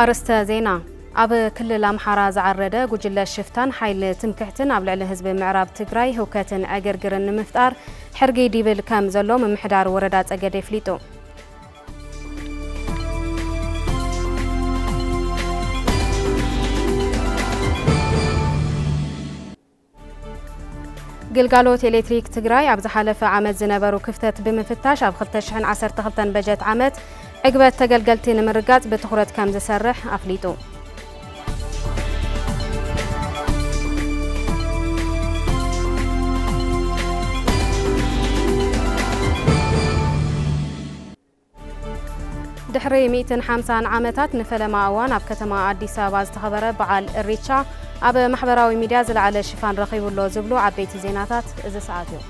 ኣርእስተ ዜና። ኣብ ክልል ኣምሓራ ዝዓረደ ጉጅለ ሽፍታን ሓይሊ ትምክሕትን ኣብ ልዕሊ ህዝቢ ምዕራብ ትግራይ ህውከትን ዕግርግርን ንምፍጣር ሕርጊ ዲብል ከም ዘሎ ምምሕዳር ወረዳ ጸገዴ ኣፍሊጡ። ግልጋሎት ኤሌክትሪክ ትግራይ ኣብ ዝሓለፈ ዓመት ዝነበሩ ክፍተት ብምፍታሽ ኣብ ክልተ ሽሕን ዓሰርተ ክልተን በጀት ዓመት ዕግበት ተገልገልቲ ንምርጋጽ ብትኹረት ከም ዝሰርሕ ኣፍሊጡ። ድሕሪ ሚእትን ሓምሳን ዓመታት ንፈለማ እዋን ኣብ ከተማ ኣዲስ ኣበባ ዝተኸበረ በዓል እሪቻ ኣብ ማሕበራዊ ሚድያ ዝለዓለ ሽፋን ረኺቡ ኣሎ ዝብሉ ዓበይቲ ዜናታት እዚ ሰዓት እዮም።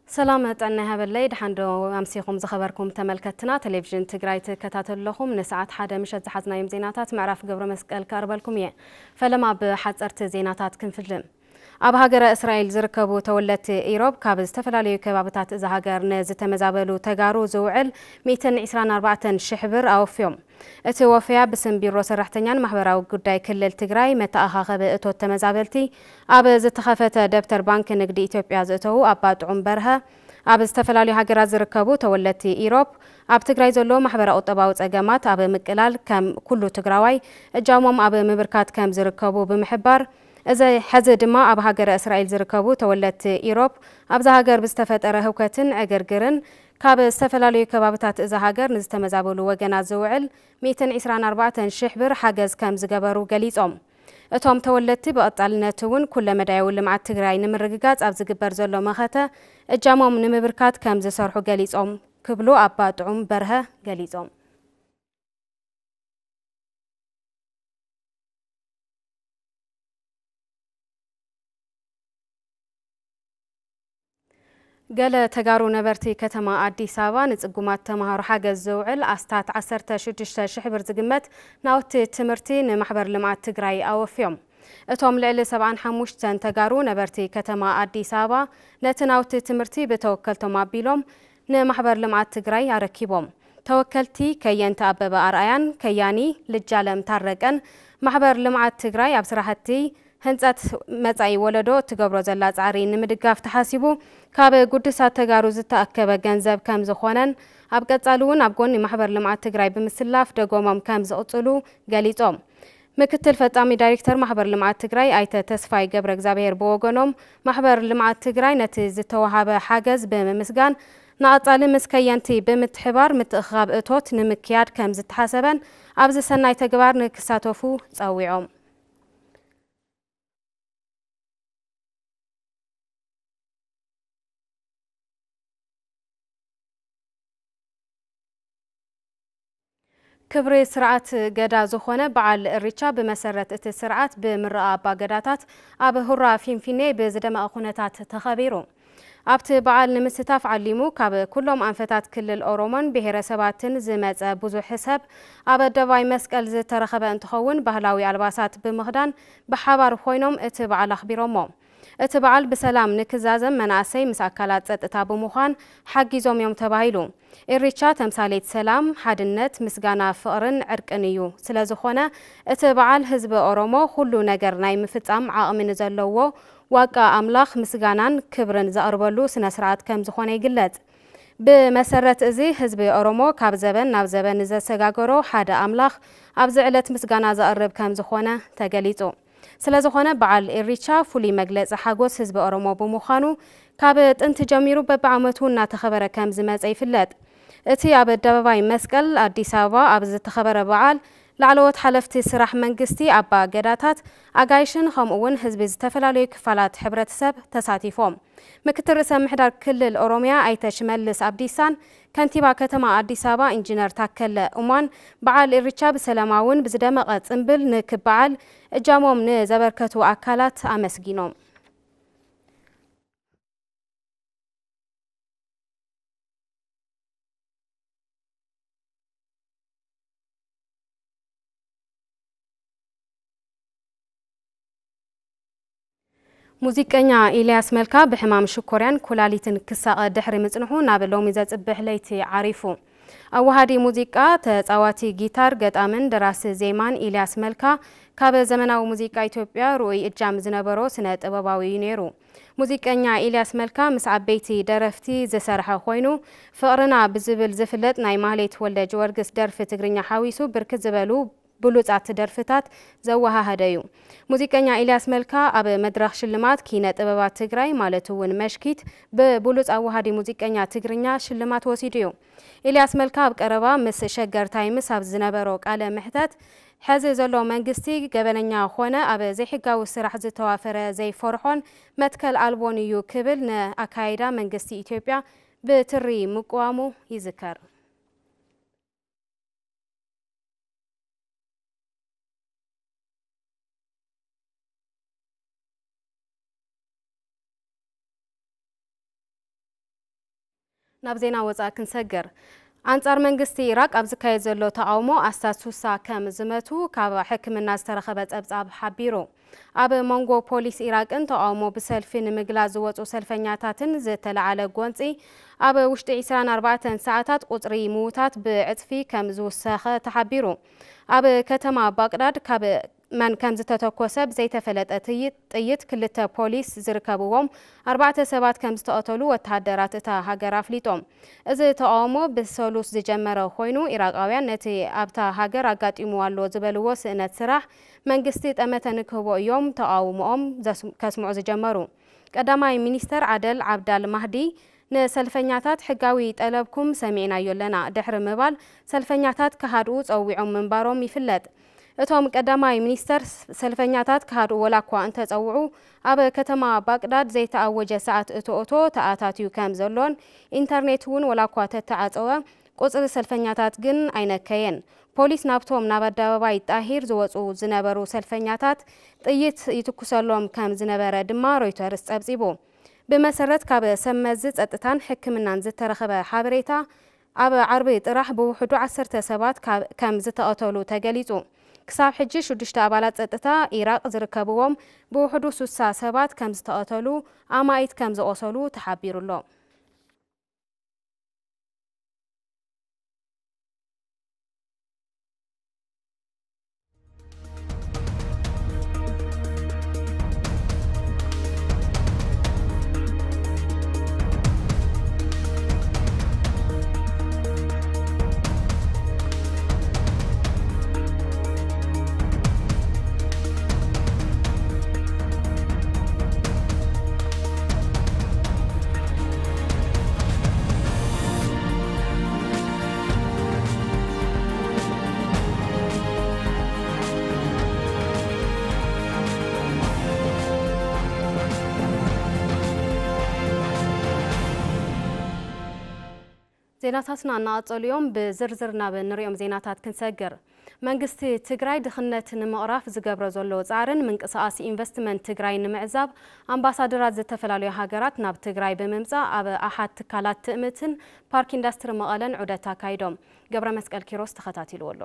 ሰላም ጥዕና ይሃበለይ። ደሓን ዶ ኣምሲኹም ዝኸበርኩም ተመልከትና? ቴሌቪዥን ትግራይ ትከታተሉ ኣለኹም። ንሰዓት ሓደ ምሸት ዝሓዝናዮም ዜናታት ምዕራፍ ገብረ መስቀል ከቕርበልኩም እየ። ፈለማ ብሓፀርቲ ዜናታት ክንፍልም። ኣብ ሃገረ እስራኤል ዝርከቡ ተወለድቲ ኢሮብ ካብ ዝተፈላለዩ ከባብታት እዛ ሃገር ንዝተመዛበሉ ተጋሩ ዝውዕል ሚእትን ዕስራን ኣርባዕተን ሽሕ ብር ኣወፍዮም። እቲ ወፈያ ብስም ቢሮ ሰራሕተኛን ማሕበራዊ ጉዳይ ክልል ትግራይ መተኣኻኸቢ እቶት ተመዛበልቲ ኣብ ዝተኸፈተ ደብተር ባንክ ንግዲ ኢትዮጵያ ዝእተዉ ኣባ ጥዑም በርሀ፣ ኣብ ዝተፈላለዩ ሃገራት ዝርከቡ ተወለድቲ ኢሮብ ኣብ ትግራይ ዘሎ ማሕበረ ቁጠባዊ ጸገማት ኣብ ምቅላል ከም ኩሉ ትግራዋይ እጃሞም ኣብ ምብርካት ከም ዝርከቡ ብምሕባር፣ እዚ ሕዚ ድማ ኣብ ሃገረ እስራኤል ዝርከቡ ተወለድቲ ኢሮብ ኣብዛ ሃገር ብዝተፈጠረ ህውከትን ዕግርግርን ካብ ዝተፈላለዩ ከባብታት እዛ ሃገር ንዝተመዛበሉ ወገናት ዝውዕል ሚእትን ዕስራን ኣርባዕተን ሽሕ ብር ሓገዝ ከም ዝገበሩ ገሊጾም። እቶም ተወለድቲ ብቐጻልነት እውን ኩለመዳያዊ ልምዓት ትግራይ ንምርግጋጽ ኣብ ዝግበር ዘሎ መኸተ እጃሞም ንምብርካት ከም ዝሰርሑ ገሊጾም ክብሉ ኣባ ጥዑም በርሀ ገሊጾም። ገለ ተጋሩ ነበርቲ ከተማ ኣዲስ ኣበባ ንጽጉማት ተማሃሮ ሓገዝ ዝውዕል ኣስታት ዓሰርተ ሽዱሽተ ሽሕ ብር ዝግመት ናውቲ ትምህርቲ ንማሕበር ልምዓት ትግራይ ኣወፍዮም። እቶም ልዕሊ ሰብዓን ሓሙሽተን ተጋሩ ነበርቲ ከተማ ኣዲስ ኣበባ ነቲ ናውቲ ትምህርቲ ብተወከልቶም ኣቢሎም ንማሕበር ልምዓት ትግራይ ኣረኪቦም። ተወከልቲ ከየንቲ ኣበበ ኣርኣያን ከያኒ ልጃለም ታረቀን ማሕበር ልምዓት ትግራይ ኣብ ስራሕቲ ህንፀት መጻኢ ወለዶ እትገብሮ ዘላ ጻዕሪ ንምድጋፍ ተሓሲቡ ካብ ጉዱሳት ተጋሩ ዝተኣከበ ገንዘብ ከም ዝኾነን ኣብ ቀጻሊ እውን ኣብ ጎኒ ማሕበር ልምዓት ትግራይ ብምስላፍ ደጎሞም ከም ዝቕጽሉ ገሊጾም። ምክትል ፈጻሚ ዳይሬክተር ማሕበር ልምዓት ትግራይ ኣይተ ተስፋይ ገብረ እግዚኣብሔር ብወገኖም ማሕበር ልምዓት ትግራይ ነቲ ዝተወሃበ ሓገዝ ብምምስጋን ንቐጻሊ ምስ ከየንቲ ብምትሕባር ምትእኽኻብ እቶት ንምክያድ ከም ዝተሓሰበን ኣብዚ ሰናይ ተግባር ንክሳተፉ ጸዊዖም። ክብሪ ስርዓት ገዳ ዝኾነ በዓል እሪቻ ብመሰረት እቲ ስርዓት ብምረቓ ኣባ ገዳታት ኣብ ሁራ ፊንፊኔ ብዝደመቐ ኩነታት ተኸቢሩ። ኣብቲ በዓል ንምስታፍ ዓሊሙ ካብ ኩሎም ኣንፈታት ክልል ኦሮሞን ብሄረሰባትን ዝመጸ ብዙሕ ሰብ ኣብ ኣደባባይ መስቀል ዝተረኸበ እንትኸውን ባህላዊ ኣልባሳት ብምኽዳን ብሓባር ኮይኖም እቲ በዓል ኣኽቢሮሞ። እቲ በዓል ብሰላም ንክዛዘም መናእሰይ ምስ ኣካላት ጸጥታ ብምዃን ሓጊዞም እዮም ተባሂሉ። ኢሪቻ ተምሳሌት ሰላም፣ ሓድነት፣ ምስጋና፣ ፍቕርን ዕርቅን እዩ። ስለዝኾነ እቲ በዓል ህዝቢ ኦሮሞ ኩሉ ነገር ናይ ምፍጻም ዓቕሚ ንዘለዎ ዋቃ ኣምላኽ ምስጋናን ክብርን ዘቕርበሉ ስነ ስርዓት ከም ዝኾነ ይግለጽ። ብመሰረት እዚ ህዝቢ ኦሮሞ ካብ ዘበን ናብ ዘበን ንዘሰጋገሮ ሓደ ኣምላኽ ኣብዚ ዕለት ምስጋና ዘቕርብ ከም ዝኾነ ተገሊጹ። ስለዝኾነ በዓል ኢሪቻ ፍሉይ መግለጺ ሓጎስ ህዝቢ ኦሮሞ ብምዃኑ ካብ ጥንቲ ጀሚሩ በብዓመቱ እናተኸበረ ከም ዝመጸ ይፍለጥ። እቲ ኣብ ኣደባባይ መስቀል ኣዲስ ኣበባ ኣብ ዝተኸበረ በዓል ላዕለዎት ሓለፍቲ ስራሕ መንግስቲ፣ ኣባ ገዳታት፣ ኣጋይሽን ከምኡ እውን ህዝቢ ዝተፈላለዩ ክፋላት ሕብረተሰብ ተሳቲፎም። ምክትል ርእሰ ምሕዳር ክልል ኦሮሚያ ኣይተ ሽመልስ ኣብዲሳን ከንቲባ ከተማ ኣዲስ ኣበባ ኢንጂነር ታከለ ኡማን በዓል ኢሪቻ ብሰላማውን ብዝደመቐ ጽንብል ንክበዓል እጃሞም ንዘበርከቱ ኣካላት ኣመስጊኖም። ሙዚቀኛ ኢልያስ መልካ ብሕማም ሽኮርያን ኩላሊትን ክሳቐ ድሕሪ ምጽንሑ ናብ ሎሚ ዘጽብሕ ለይቲ ዓሪፉ። ኣዋሃዲ ሙዚቃ፣ ተጻዋቲ ጊታር፣ ገጣምን ደራሲ ዜማን ኢልያስ መልካ ካብ ዘመናዊ ሙዚቃ ኢትዮጵያ ርኡይ እጃም ዝነበሮ ስነ ጥበባዊ እዩ ነይሩ። ሙዚቀኛ ኢልያስ መልካ ምስ ዓበይቲ ደረፍቲ ዝሰርሐ ኮይኑ፣ ፍቕርና ብዝብል ዝፍለጥ ናይ ማህሌት ወልደ ጊዮርጊስ ደርፊ ትግርኛ ሓዊሱ ብርክት ዝበሉ ብሉጻት ደርፍታት ዘወሃሃደ እዩ። ሙዚቀኛ ኢልያስ መልካ ኣብ መድረኽ ሽልማት ኪነ ጥበባት ትግራይ ማለት እውን መሽኪት ብብሉጽ ኣዋሃዲ ሙዚቀኛ ትግርኛ ሽልማት ወሲዱ እዩ። ኢልያስ መልካ ኣብ ቀረባ ምስ ሸገር ታይምስ ኣብ ዝነበሮ ቃለ መሕተት፣ ሕዚ ዘሎ መንግስቲ ገበነኛ ኾነ ኣብ ዘይሕጋዊ ስራሕ ዝተዋፈረ ዘይፈርሖን መትከል ኣልቦን እዩ ክብል ንኣካይዳ መንግስቲ ኢትዮጵያ ብትሪ ምቅዋሙ ይዝከር። ናብ ዜና ወጻኢ ክንሰግር። ኣንጻር መንግስቲ ኢራቅ ኣብ ዝካየድ ዘሎ ተቓውሞ ኣስታት ሱሳ ከም ዝመቱ ካብ ሕክምና ዝተረኸበ ጸብጻብ ሓቢሩ። ኣብ መንጎ ፖሊስ ኢራቅን ተቓውሞ ብሰልፊ ንምግላጽ ዝወጹ ሰልፈኛታትን ዝተለዓለ ጎንጺ፣ ኣብ ውሽጢ ዕስራን ኣርባዕተን ሰዓታት ቁጽሪ ምዉታት ብዕጽፊ ከም ዝውሰኸ ተሓቢሩ። ኣብ ከተማ ባቅዳድ ካብ መን ከም ዝተተኮሰ ብዘይተፈለጠ ትይ-፣ ጥይት ክልተ ፖሊስ ዝርከብዎም ኣርባዕተ ሰባት ከም ዝተቐተሉ ወተሃደራት እታ ሃገር ኣፍሊጦም። እዚ ተቓውሞ ብሰሉስ ዝጀመረ ኮይኑ፣ ኢራቃውያን ነቲ ኣብታ ሃገር ኣጋጢሙ ኣሎ ዝበልዎ ስእነት ስራሕ መንግስቲ ጠመተ ንክህቦ እዮም ተቓውሞኦም ዘስ-፣ ከስምዑ ዝጀመሩ። ቀዳማይ ሚኒስተር ዓደል ዓብዳል ማህዲ ንሰልፈኛታት፣ ሕጋዊ ጠለብኩም ሰሚዕናዮ ኣለና ድሕሪ ምባል፣ ሰልፈኛታት ክሃድኡ ጸዊዖም ምንባሮም ይፍለጥ። እቶም ቀዳማይ ሚኒስተር፣ ሰልፈኛታት ክሃድኡ ወላ እኳ እንተጸውዑ፣ ኣብ ከተማ ባቅዳድ ዘይተኣወጀ ሰዓት እቶ እቶ ተኣታትዩ ከም ዘሎን ኢንተርኔት እውን ወላ እኳ ተተዓጸወ፣ ቁጽሪ ሰልፈኛታት ግን ኣይነከየን። ፖሊስ ናብቶም ናብ ኣደባባይ ጣሂር ዝወጹ ዝነበሩ ሰልፈኛታት ጥይት ይትኩሰሎም ከም ዝነበረ ድማ ሮይተርስ ጸብጺቡ። ብመሰረት ካብ ሰብ መዚ ጸጥታን ሕክምናን ዝተረኸበ ሓበሬታ፣ ኣብ ዓርቢ ጥራሕ ብውሕዱ ዓሰርተ ሰባት ካብ፣ ከም ዝተቐተሉ ተገሊጹ። ክሳብ ሕጂ ሽዱሽተ ኣባላት ጸጥታ ኢራቅ ዝርከብዎም ብውሕዱ ሱሳ ሰባት ከም ዝተቐተሉ፣ ኣማኢት ከም ዝቖሰሉ ተሓቢሩ ኣሎ። ዜናታትና እናቐጸሉ እዮም። ብዝርዝር ናብ እንሪኦም ዜናታት ክንሰግር። መንግስቲ ትግራይ ድኽነት ንምቕራፍ ዝገብሮ ዘሎ ጻዕርን ምንቅስቓስ ኢንቨስትመንት ትግራይ ንምዕዛብ ኣምባሳደራት ዝተፈላለዩ ሃገራት ናብ ትግራይ ብምምጻእ ኣብ ኣሓት ትካላት ትእምትን ፓርክ ኢንዳስትሪ መቐለን ዑደት ኣካይዶም። ገብረ መስቀል ኪሮስ ተኸታቲልዎ ኣሎ።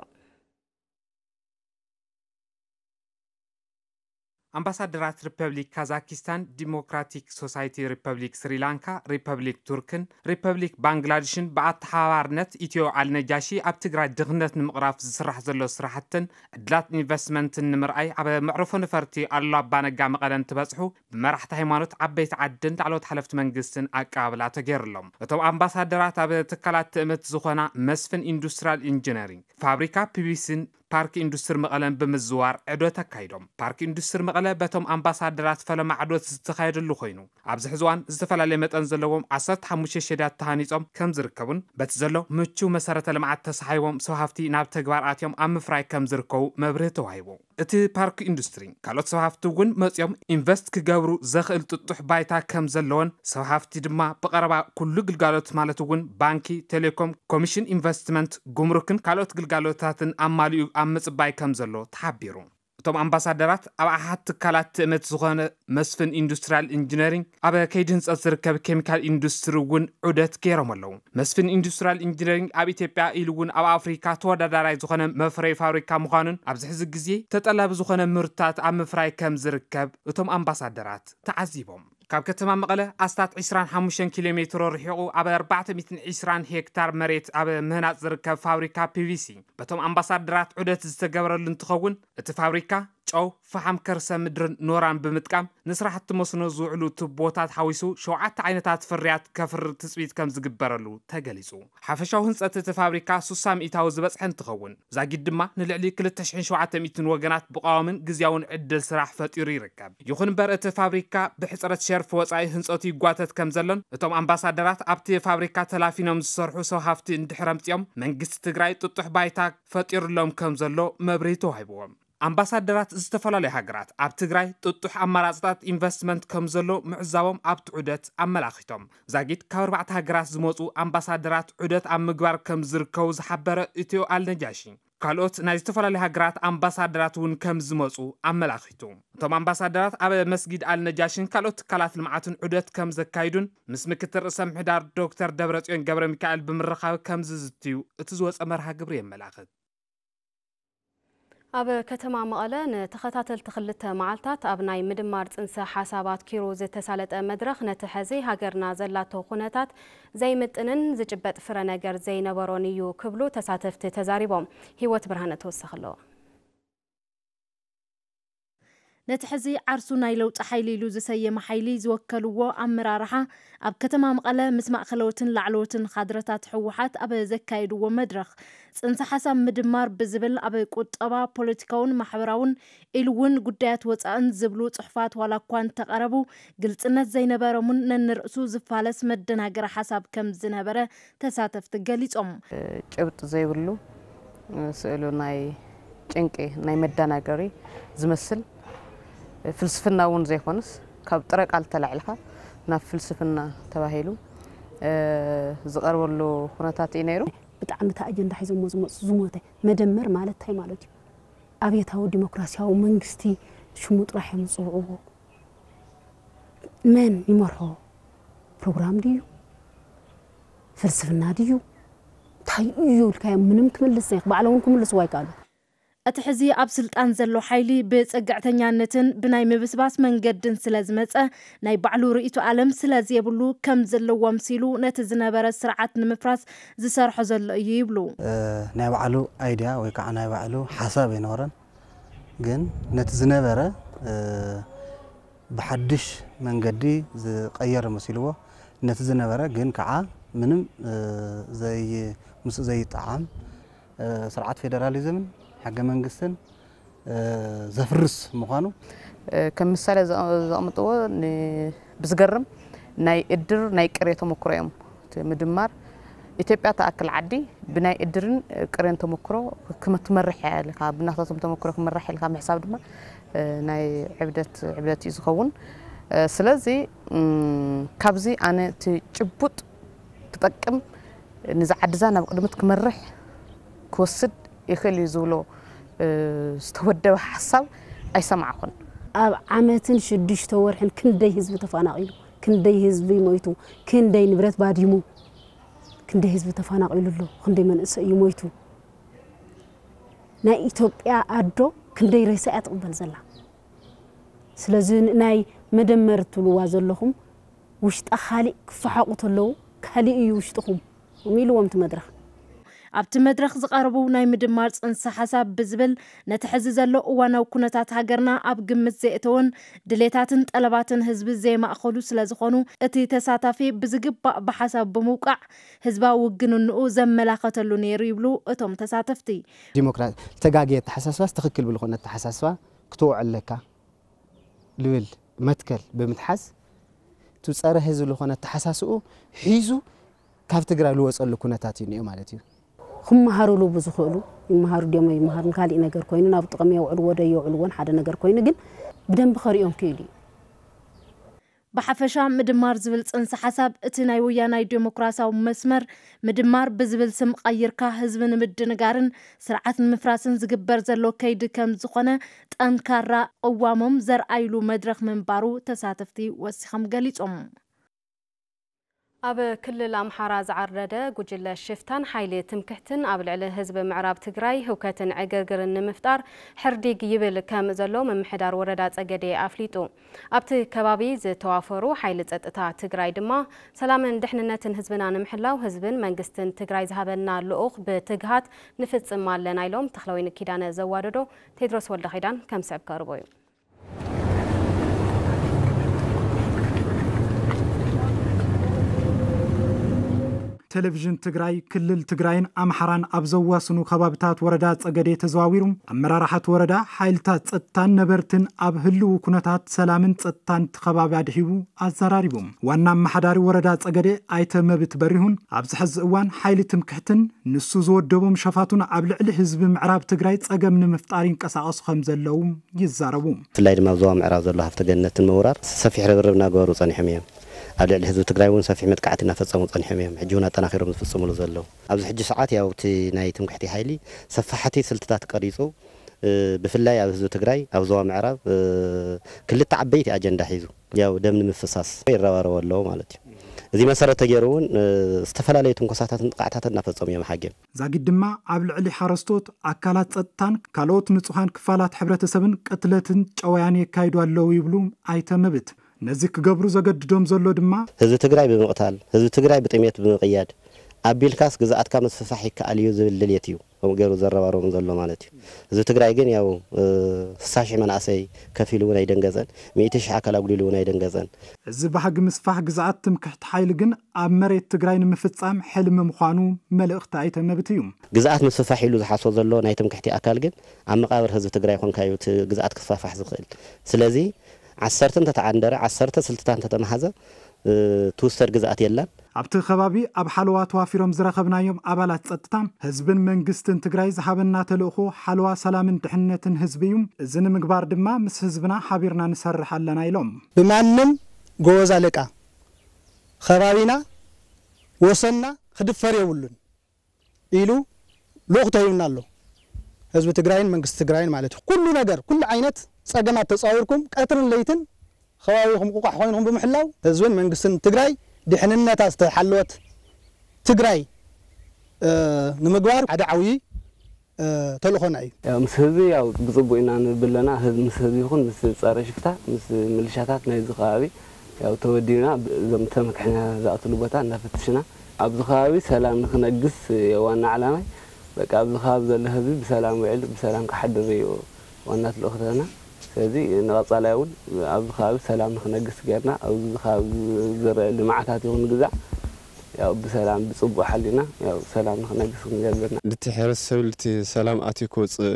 ኣምባሳደራት ሪፐብሊክ ካዛኪስታን፣ ዲሞክራቲክ ሶሳይቲ ሪፐብሊክ ስሪላንካ፣ ሪፐብሊክ ቱርክን ሪፐብሊክ ባንግላድሽን ብኣተሓባባርነት ኢትዮ ኣልነጃሺ ኣብ ትግራይ ድኽነት ንምቕራፍ ዝስራሕ ዘሎ ስራሕትን ዕድላት ኢንቨስትመንትን ንምርኣይ ኣብ መዕርፎ ነፈርቲ ኣሉላ ኣባነጋ መቐለ እንትበጽሑ ብመራሕቲ ሃይማኖት፣ ዓበይቲ ዓድን ላዕለዎት ሓለፍቲ መንግስትን ኣቀባብላ ተገይሩሎም። እቶም ኣምባሳደራት ኣብ ትካላት ትእምት ዝኾና መስፍን ኢንዱስትሪያል ኢንጂነሪንግ፣ ፋብሪካ ፒቪሲን ፓርክ ኢንዱስትሪ መቐለን ብምዝዋር ዕዶት ኣካይዶም። ፓርክ ኢንዱስትሪ መቐለ በቶም ኣምባሳደራት ፈለማ ዕዶት ዝተኻየደሉ ኮይኑ፣ ኣብዚ ሕዚ እዋን ዝተፈላለየ መጠን ዘለዎም ዓሰርተ ሓሙሽተ ሸዳት ተሃኒጾም ከም ዝርከቡን በቲ ዘሎ ምቹ መሰረተ ልምዓት ተሰሓይቦም ሰብ ሃፍቲ ናብ ተግባር ኣትዮም ኣብ ምፍራይ ከም ዝርከቡ መብርሂ ተዋሂቡ። እቲ ፓርክ ኢንዱስትሪ ካልኦት ሰብ ሃፍቲ እውን መጺኦም ኢንቨስት ክገብሩ ዘኽእል ጥጡሕ ባይታ ከም ዘለዎን ሰብ ሃፍቲ ድማ ብቐረባ ኩሉ ግልጋሎት ማለት እውን ባንኪ፣ ቴሌኮም፣ ኮሚሽን ኢንቨስትመንት፣ ጉምሩክን ካልኦት ግልጋሎታትን ኣማሊኡ ኣብ ምጽባይ ከም ዘሎ ተሓቢሩ። እቶም ኣምባሳደራት ኣብ ኣሓት ትካላት ትእምት ዝኾነ መስፍን ኢንዱስትሪያል ኢንጂነሪንግ ኣብ ከይዲ ህንፀት ዝርከብ ኬሚካል ኢንዱስትሪ እውን ዑደት ገይሮም ኣለዉ። መስፍን ኢንዱስትሪያል ኢንጂነሪንግ ኣብ ኢትዮጵያ ኢሉ እውን ኣብ ኣፍሪካ ተወዳዳራይ ዝኾነ መፍረይ ፋብሪካ ምዃኑን ኣብዚ ሕዚ ግዜ ተጠላቢ ዝኾነ ምህርትታት ኣብ ምፍራይ ከም ዝርከብ እቶም ኣምባሳደራት ተዓዚቦም። ካብ ከተማ መቐለ ኣስታት ዕስራን ሓሙሽተን ኪሎ ሜትሮ ርሒቑ ኣብ ኣርባዕተ ሚእትን ዕስራን ሄክታር መሬት ኣብ ምህናፅ ዝርከብ ፋብሪካ ፒቪሲ በቶም ኣምባሳደራት ዑደት ዝተገበረሉ እንትኸውን፣ እቲ ፋብሪካ ጨው፣ ፈሓም ከርሰ ምድርን ኖራን ብምጥቃም ንስራሕቲ መስኖ ዝውዕሉ ቱቦታት ሓዊሱ ሸውዓተ ዓይነታት ፍርያት ከፍሪ ትፅቢት ከም ዝግበረሉ ተገሊፁ። ሓፈሻዊ ህንፀት እቲ ፋብሪካ ሱሳ ሚእታዊ ዝበፅሐ እንትኸውን፣ ዛጊድ ድማ ንልዕሊ ክልተ ሽሕን ሸውዓተ ሚእትን ወገናት ብቐዋምን ግዝያውን ዕድል ስራሕ ፈጢሩ ይርከብ። ይኹን እምበር እቲ ፋብሪካ ብሕፅረት ሸርፊ ወፃኢ ህንፀቱ ይጓተት ከም ዘሎን እቶም ኣምባሳደራት ኣብቲ ፋብሪካ ተላፊኖም ዝሰርሑ ሰብ ሃፍቲ እንድሕር ኣምፂኦም መንግስቲ ትግራይ ጥጡሕ ባይታ ፈጢሩሎም ከም ዘሎ መብርሂ ተዋሂብዎም። ኣምባሳደራት ዝተፈላለዩ ሃገራት ኣብ ትግራይ ጥጡሕ ኣማራፅታት ኢንቨስትመንት ከም ዘሎ ምዕዛቦም ኣብቲ ዑደት ኣመላኺቶም። ዛጊድ ካብ ኣርባዕተ ሃገራት ዝመፁ ኣምባሳደራት ዑደት ኣብ ምግባር ከም ዝርከቡ ዝሓበረ ኢትዮ ኣልነጃሺ፣ ካልኦት ናይ ዝተፈላለዩ ሃገራት ኣምባሳደራት እውን ከም ዝመፁ ኣመላኺቱ። እቶም ኣምባሳደራት ኣብ መስጊድ ኣልነጃሽን ካልኦት ትካላት ልምዓትን ዑደት ከም ዘካይዱን ምስ ምክትል ርእሰ ምሕዳር ዶክተር ደብረፅዮን ገብረ ሚካኤል ብምርኻብ ከም ዝዝትዩ እቲ ዝወፀ መርሃ ግብሪ የመላኽት። ኣብ ከተማ መቐለ ንተኸታተልቲ ክልተ መዓልታት ኣብ ናይ ምድማር ጽንሰ ሓሳብ ኣትኪሩ ዝተሳለጠ መድረኽ፣ ነቲ ሐዚ ሃገርና ዘላቶ ኩነታት ዘይምጥንን ዝጭበጥ ፍረ ነገር ዘይነበሮን እዩ ክብሉ ተሳተፍቲ ተዛሪቦም። ህይወት ብርሃነ ተወሰኽ ኣለዎ። ነቲ ሕዚ ዓርሱ ናይ ለውጢ ሓይሊ ኢሉ ዝሰየመ ሓይሊ ዝወከልዎ ኣመራርሓ ኣብ ከተማ መቐለ ምስ ማእኸለዎትን ላዕለዎትን ካድረታት ህወሓት ኣብ ዘካየድዎ መድረኽ፣ ጽንሰ ሓሳብ ምድማር ብዝብል ኣብ ቁጠባ፣ ፖለቲካውን ማሕበራውን ኢሉ እውን ጉዳያት ወፃእን ዝብሉ ጽሑፋት ዋላ እኳ እንተቐረቡ፣ ግልጽነት ዘይነበሮምን ነንርእሱ ዝፋለስ መደናገሪ ሓሳብ ከም ዝነበረ ተሳተፍቲ ገሊጾም። ጭብጢ ዘይብሉ፣ ስእሉ ናይ ጭንቂ፣ ናይ መደናገሪ ዝመስል፣ ፍልስፍና እውን ዘይኮነስ፣ ካብ ጥረ ቃል ተላዒልካ ናብ ፍልስፍና ተባሂሉ ዝቐርበሉ ኩነታት እዩ ነይሩ። ብጣዕሚ እቲ ኣጀንዳ ሒዞሞ ዝመፁ ዝሞተ መደመር ማለት እንታይ ማለት እዩ? ኣብዮታዊ ዲሞክራሲያዊ መንግስቲ ሽሙ ጥራሕ እዮም ዝፅውዕዎ። መን ይመርሖ? ፕሮግራም ድዩ? ፍልስፍና ድዩ? እንታይ እዩ ኢልካዮም ምንም ክምልስ ዘይክ-፣ ባዕሎም እውን ክምልስዎ ኣይከኣሉ። እቲ ሕዚ ኣብ ስልጣን ዘሎ ሓይሊ ብጽግዕተኛነትን ብናይ ምብስባስ መንገድን ስለ ዝመጸ፣ ናይ ባዕሉ ርእይቶ ዓለም ስለ ዘየብሉ፣ ከም ዘለዎ ኣምሲሉ ነቲ ዝነበረ ስርዓት ንምፍራስ ዝሰርሖ ዘሎ እዩ ይብሉ። እ፣ ናይ ባዕሉ ኣይድያ ወይ ከዓ ናይ ባዕሉ ሓሳብ ኣይነበረን። ግን ነቲ ዝነበረ፣ እ፣ ብሓድሽ መንገዲ ዝቐየረ መሲልዎ፣ ነቲ ዝነበረ ግን ከዓ ምንም፣ እ፣ ዘይ-፣ ምስኡ ዘይጠዓም፣ እ፣ ስርዓት ፌደራሊዝምን ሕገ መንግስትን፣ እ፣ ዘፍርስ ምዃኑ። እ፣ ከም ምሳሌ ዘ-፣ ዘቕምጥዎ ን-፣ ብዝገርም ናይ እድር ናይ ቅሬ ተመክሮ እዮም። እቲ ምድማር ኢትዮጵያ ትኣክል ዓዲ ብናይ እድርን ቅሬን ተመክሮ ክመ-፣ ትመርሕ እያ ኢልካ፣ ብናታቶም ተመክሮ ክመራሕ ኢልካ ምሕሳብ ድማ፣ እ፣ ናይ ዕብደት፣ ዕብደት እዩ ዝኸውን። እ፣ ስለዚ፣ እም፣ ካብዚ ኣነ እቲ ጭቡጥ ክጠቅም፣ ንዛ ዓድዛ ናብ ቅድሚት ክመርሕ ክወስድ ይኽእል እዩ ዝብሎ፣ እ፣ ዝተወደበ ሓሳብ ኣይሰማዕኹን። ኣብ ዓመትን ሽዱሽተ ወርሕን ክንደይ ህዝቢ ተፈናቒሉ፣ ክንደይ ህዝቢ ሞይቱ፣ ክንደይ ንብረት ባዲሙ፣ ክንደይ ህዝቢ ተፈናቒሉ ኣሎ፣ ክንደይ መንእሰይ እዩ ሞይቱ። ናይ ኢትዮጵያ ኣዶ ክንደይ ሬሳ እያ ትቕበል ዘላ። ስለዚ ን-፣ ናይ መደመር ትብልዋ ዘለኹም ውሽጣ ካሊእ ክፈሓቑ ተለዉ፣ ካሊእ እዩ ውሽጥኹም ኢልዎም እቲ መድረኽ። ኣብቲ መድረኽ ዝቐረቡ ናይ ምድማር ጽንሰ ሓሳብ ብዝብል፣ ነቲ ሕዚ ዘሎ እዋናዊ ኩነታት ሃገርና ኣብ ግምት ዘየእተወን ድሌታትን ጠለባትን ህዝቢ ዘየማእኸሉ ስለ ዝኾኑ፣ እቲ ተሳታፊ ብዝግባእ ብሓሳብ ብምውቃዕ ህዝባዊ ውግንንኡ ዘመላኸተሉ ነይሩ ይብሉ እቶም ተሳተፍቲ። ዲሞክራ-፣ ዝተጋገየ ኣተሓሳስባስ ትኽክል ብልኾነ ኣተሓሳስባ ክትውዕ ኣለካ ልብል መትከል ብምትሓዝ፣ እቲ ጸረ ህዝቢ ዝኾነ ኣተሓሳስኡ ሒዙ ካብ ትግራይ ልወጸሉ ኩነታት እዩ እኒኦ ማለት እዩ። ክመሃሩሉ ብዝኽእሉ ይመሃሩ ድዮም ኣይመሃሩን፣ ካሊእ ነገር ኮይኑ፣ ናብ ጥቕሚ የውዕልዎ ዶ የውዕልዎን ሓደ ነገር ኮይኑ፣ ግን ብደንቢ ከርእዮም ክኢሉ እዩ። ብሓፈሻ ምድማር ዝብል ጽንሰ ሓሳብ እቲ ናይ ወያናይ ዴሞክራሲያዊ መስመር ምድማር ብዝብል ስም ቀይርካ ህዝቢ ንምድንጋርን ስርዓት ንምፍራስን ዝግበር ዘሎ ከይዲ ከም ዝኾነ ጠንካራ ቅዋሞም ዘርኣይሉ መድረኽ ምንባሩ ተሳተፍቲ ወሲኾም ገሊጾም። ኣብ ክልል ኣምሓራ ዝዓርደደ ጉጅለ ሽፍታን ሓይሊ ትምክሕትን ኣብ ልዕሊ ህዝቢ ምዕራብ ትግራይ ህውከትን ዕግርግርን ንምፍጣር ሕርዲግ ይብል ከም ዘሎ ምምሕዳር ወረዳ ጸገዴ ኣፍሊጡ። ኣብቲ ከባቢ ዝተዋፈሩ ሓይሊ ጸጥታ ትግራይ ድማ ሰላምን ድሕንነትን ህዝብና ንምሕላው ህዝብን መንግስትን ትግራይ ዝሃበና ልኡኽ ብትግሃት ንፍጽም ኣለና ኢሎም። ተኽለወይኒ ኪዳነ ዘዋደዶ ቴድሮስ ወልደኺዳን ከም ስዕብ ከቕርቦ እዩ። ቴሌቪዥን ትግራይ ክልል ትግራይን ኣምሓራን ኣብ ዘዋስኑ ከባብታት ወረዳ ጸገዴ ተዘዋዊሩ ኣመራርሓት ወረዳ፣ ሓይልታት ጸጥታን ነበርትን ኣብ ህልው ኩነታት ሰላምን ጸጥታን እቲ ከባቢ ኣድሒቡ ኣዘራሪቡ። ዋና ኣመሓዳሪ ወረዳ ጸገዴ ኣይተ መብት በሪሁን ኣብዚ ሕዚ እዋን ሓይሊ ትምክሕትን ንሱ ዝወደቦም ሸፋቱን ኣብ ልዕሊ ህዝቢ ምዕራብ ትግራይ ጸገም ንምፍጣር ይንቀሳቐሱ ከም ዘለዉ ይዛረቡ። ብፍላይ ድማ ኣብ ዞባ ምዕራብ ዘሎ ሃፍተ ገነትን ምውራር ሰፊሕ ርብርብ እናገበሩ ጸኒሖም እዮም። ኣብ ልዕሊ ህዝቢ ትግራይ እውን ሰፊሕ መጥቃዕቲ እናፈጸሙ ጸኒሖም እዮም። ሕጂ እውን ኣጠናኺሮም ዝፍጽሙሉ ዘለዉ። ኣብዚ ሕጂ ሰዓት ያው እቲ ናይ ትምክሕቲ ሓይሊ ሰፋሕቲ ስልትታት ቀሪጹ፣ እ፣ ብፍላይ ኣብ ህዝቢ ትግራይ ኣብ ዞባ ምዕራብ፣ እ፣ ክልተ ዓበይቲ ኣጀንዳ ሒዙ ያው ደም ንምፍሳስ ይረባረቡ ኣለዉ ማለት እዩ። እዚ መሰረት ተገይሩ እውን፣ እ፣ ዝተፈላለዩ ትንኮሳታትን ጥቃዕታትን እናፈጸሙ እዮም ሓጊም። ዛጊድ ድማ ኣብ ልዕሊ ሓረስቶት፣ ኣካላት ጸጥታን ካልኦት ንጹሃን ክፋላት ሕብረተሰብን ቅትለትን ጨወያን የካይዱ ኣለዉ ይብሉ ኣይተ መብት። ነዚ ክገብሩ ዘገድዶም ዘሎ ድማ ህዝቢ ትግራይ ብምቕታል፣ ህዝቢ ትግራይ ብጥሜት ብምቕያድ፣ ኣቢልካስ ግዝኣትካ ምስፍፋሕ ይከኣል እዩ ዝብል ድልየት እዩ ከምኡ ገይሩ ዘረባርቦም ዘሎ ማለት እዩ። ህዝቢ ትግራይ ግን ያው፣ እ፣ ስሳ ሺሕ መናእሰይ ከፊሉ እውን ኣይደንገጸን፣ ሚእቲ ሺሕ ኣካል ኣጉዲሉ እውን ኣይደንገጸን። እዚ ባህጊ ምስፋሕ ግዝኣት ትምክሕቲ ሓይሊ ግን ኣብ መሬት ትግራይ ንምፍጻም ሕልሚ ምዃኑ መልእኽቲ ኣይተ መብት እዩ። ግዝኣት ምስፍፋሕ ኢሉ ዝሓስቦ ዘሎ ናይ ትምክሕቲ ኣካል ግን ኣብ መቓብር ህዝቢ ትግራይ ኮንካ እዩ እቲ ግዝኣት ክስፋፋሕ ዝኽእል። ስለዚ ዓሰርተ እንተተዓንደረ፣ ዓሰርተ ስልትታት እንተተመሃዘ፣ እ፣ ትውሰድ ግዝኣት የላን። ኣብቲ ከባቢ ኣብ ሓለዋ ተዋፊሮም ዝረኸብናዮም ኣባላት ጸጥታ፣ ህዝብን መንግስትን ትግራይ ዝሃበና ተልእኾ ሓለዋ ሰላምን ድሕነትን ህዝቢ እዩ። እዚ ንምግባር ድማ ምስ ህዝብና ሓቢርና ንሰርሕ ኣለና ኢሎም። ብማንም ጎበዝ ኣለቃ ከባቢና ወሰንና ክድፈር የብሉን ኢሉ ልኡኽ ተሂቡና ኣሎ። ህዝቢ ትግራይን መንግስቲ ትግራይን ማለት እዩ። ኩሉ ነገር፣ ኩሉ ዓይነት ጸገማት ተጻዊርኩም ቀትርን ለይትን ከባቢኹም ቁቋሕ ኮይንኩም ብምሕላው ህዝብን መንግስትን ትግራይ ድሕንነታ ዝተሓለወት ትግራይ፣ እ፣ ንምግባር ሓደ ዓብዪ፣ እ፣ ተልእኾና እዩ። ያው ምስ ህዝቢ ያው ብጽቡቕ ኢና ንብል ኣለና። ህዝቢ፣ ምስ ህዝቢ ይኹን ምስ ጸረ ሽፍታ፣ ምስ ምልሻታት ናይዚ ከባቢ ያው ተወዲብና ብ-፣ እዞም ተመክሕና ዝኣትሉ ቦታ እናፈተሽና ኣብዚ ከባቢ ሰላም ንክነግስ ዋና ዓላማይ። በቃ ኣብዚ ከባቢ ዘሎ ህዝቢ ብሰላም ውዕል ብሰላም ክሓድር እዩ ዋና ተልእኾታትና። ስለዚ ንቐጻላይ እውን ኣብዚ ከባቢ ሰላም ንክነግስ ጌርና ኣብዚ ከባቢ ዝረአ ልምዓታት ይኹን ግዛዕ ያው ብሰላም ብጽቡቕ ሓሊና ያው ሰላም ንክነግስ ክንገብርና። ልቲ ሕብረተሰብ ልቲ ሰላም ኣትዩ ክወፅእ